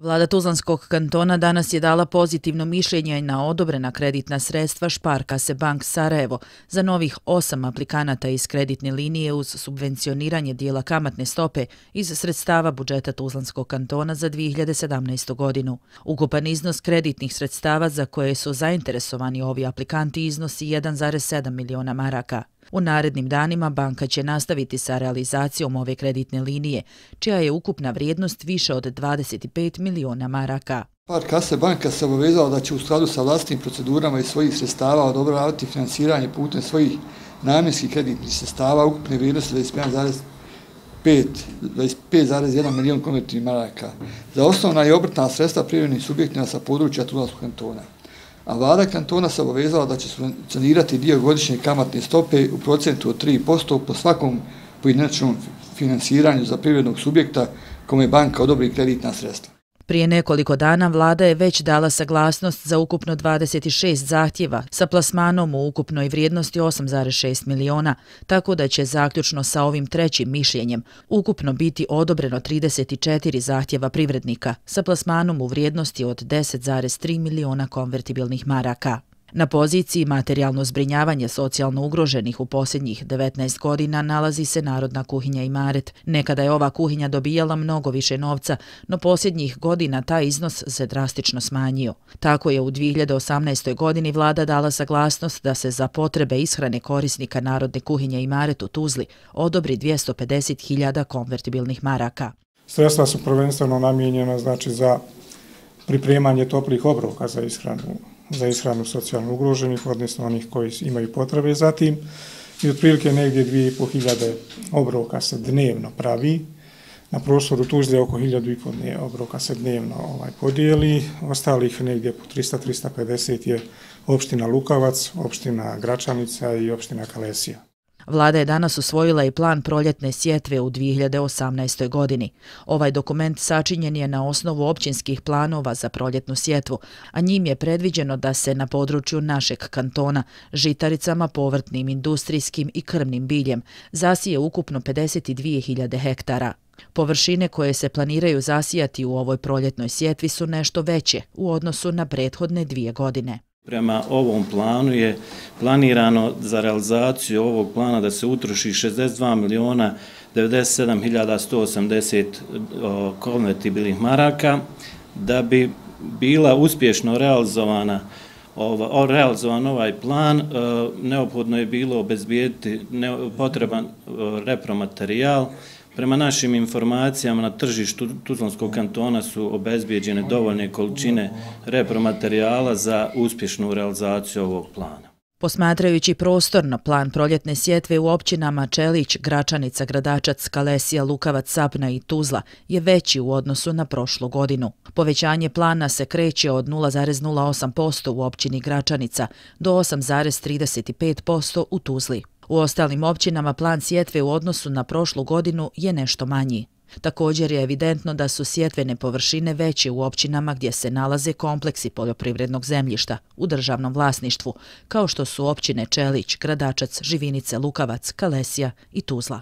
Vlada Tuzlanskog kantona danas je dala pozitivno mišljenje na odobrena kreditna sredstva Sparkasse Bank Sarajevo za novih 8 aplikanata iz kreditne linije uz subvencioniranje dijela kamatne stope iz sredstava budžeta Tuzlanskog kantona za 2017. godinu. Ukupan iznos kreditnih sredstava za koje su zainteresovani ovi aplikanti iznosi 1,7 miliona maraka. U narednim danima banka će nastaviti sa realizacijom ove kreditne linije, čija je ukupna vrijednost više od 25 miliona maraka. Sparkasse banka se obavezala da će u skladu sa vlastitim procedurama i svojih sredstava odobravati finansiranje putem svojih namjenskih kreditnih sredstava ukupne vrijednosti 25,1 milion konvertibilnih maraka za osnovna i obrtna sredstva privrednim subjektima sa područja Tuzlanskog kantona. A vlada kantona se obavezala da će subvencionirati dio godišnje kamatne stope u procentu od 3% po svakom pojedinačnom finansiranju za privrednog subjekta kome banka odobri kreditna sredstva. Prije nekoliko dana vlada je već dala saglasnost za ukupno 26 zahtjeva sa plasmanom u ukupnoj vrijednosti 8,6 miliona, tako da će zaključno sa ovim trećim mišljenjem ukupno biti odobreno 34 zahtjeva privrednika sa plasmanom u vrijednosti od 10,3 miliona konvertibilnih maraka. Na poziciji materijalno zbrinjavanje socijalno ugroženih u posljednjih 19 godina nalazi se Narodna kuhinja Imaret. Nekada je ova kuhinja dobijala mnogo više novca, no posljednjih godina taj iznos se drastično smanjio. Tako je u 2018. godini vlada dala saglasnost da se za potrebe ishrane korisnika Narodne kuhinje Imaret u Tuzli odobri 250.000 konvertibilnih maraka. Sredstva su prvenstveno namijenjena za pripremanje toplih obroka za ishranu socijalno ugroženih, odnosno onih koji imaju potrebe za tim. I otprilike negdje 2.500 obroka se dnevno pravi. Na prostoru Tuzle oko 1.500 obroka se dnevno podijeli. Ostalih negdje po 300-350 je opština Lukavac, opština Gračanica i opština Kalesija. Vlada je danas usvojila i plan proljetne sjetve u 2018. godini. Ovaj dokument sačinjen je na osnovu općinskih planova za proljetnu sjetvu, a njim je predviđeno da se na području našeg kantona žitaricama, povrtnim, industrijskim i krmnim biljem zasije ukupno 52.000 hektara. Površine koje se planiraju zasijati u ovoj proljetnoj sjetvi su nešto veće u odnosu na prethodne 2 godine. Prema ovom planu je planirano za realizaciju ovog plana da se utroši 62.097.180 konvertibilnih maraka. Da bi bila uspješno realizovan ovaj plan, neophodno je bilo obezbijediti potreban repromaterijal. Prema našim informacijama na tržištu Tuzlanskog kantona su obezbijeđene dovoljne količine repromaterijala za uspješnu realizaciju ovog plana. Posmatrajući prostorno, plan proljetne sjetve u općinama Čelić, Gračanica, Gradačac, Kalesija, Lukavac, Sapna i Tuzla je veći u odnosu na prošlu godinu. Povećanje plana se kreće od 0,08% u općini Gračanica do 8,35% u Tuzli. U ostalim općinama plan sjetve u odnosu na prošlu godinu je nešto manji. Također je evidentno da su sjetvene površine veće u općinama gdje se nalaze kompleksi poljoprivrednog zemljišta u državnom vlasništvu, kao što su općine Čelić, Gradačac, Živinice, Lukavac, Kalesija i Tuzla.